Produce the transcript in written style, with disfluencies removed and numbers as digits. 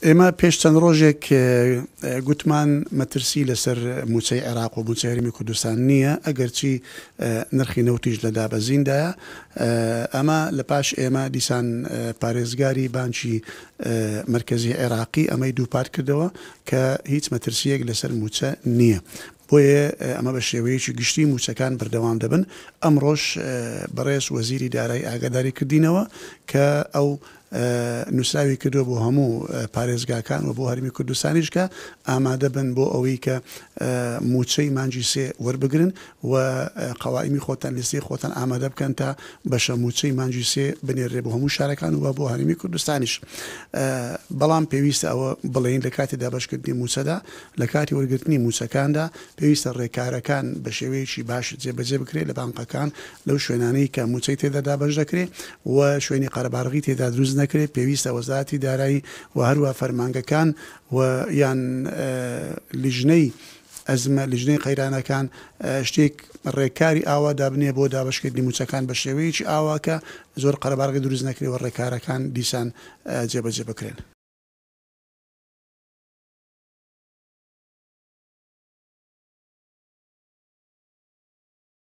ئێمە پێش چەند ڕۆژێک گوتمان مەترسی لەسەر مووچەی عێراق و مووچەی هەرێمی کوردستان نییە، ئەگەرچی نرخی نەوتیش لە دابەزیندایە. ئەمە لە پاش ئێمە دیسان پارێزگاری بانکی مەرکەزی عێراقی ئەمەی دووپات کردەوە کە هیچ مەترسییەک لەسەر مووچە نییە. بۆیە ئەمە بە شێوەیەکی گشتی مووچەکان بەردەوام دەبن. ئەمڕۆش بەڕێز وەزیری دارایی ئاگاداری کردینەوە کە ئەو نووسراوی کردووە بۆ هەموو پارێزگاکان و بۆ هەرێمی کوردستانیش کە ئامادە بن بۆ ئەوەی کە مووچەی مانگی سێ وەربگرن و قەوائیمی خۆتان لیستی خۆتان ئامادە بکەن تا بەشە مووچەی مانگی سێ بنێرێ بۆ هەموو شارەکان و بۆ هەرێمی کوردستانیش. بەڵام پێویستە ئەوە بڵێین لە کاتی دابەشکردنی مووچەدا لە کاتی وەرگرتنی مووچەکاندا پێویستە ڕێکارەکان بە شێوەیەکی باش جێبەجێ بکرێت لە بانقەکان لەو شوێنانەی کە مووچەی تێدا دابەش دەکرێت و شوێنی قەرەباڵغی تێدا دروست نەکرێت، پێویستە وەزارەتی دارایی و هەروەها فەرمانگەکان و یان لیژنەی ئەزمە، لیژنەی قەیرانەکان شتێک ڕێکاری ئاوا دابنێ بۆ دابەشکردنی مووچەکان بە شێوەیەکی ئاوا کە زۆر قەرەباڵغی دروست نەکرێت و ڕێکارەکان دیسان جێبەجێ بکرێن.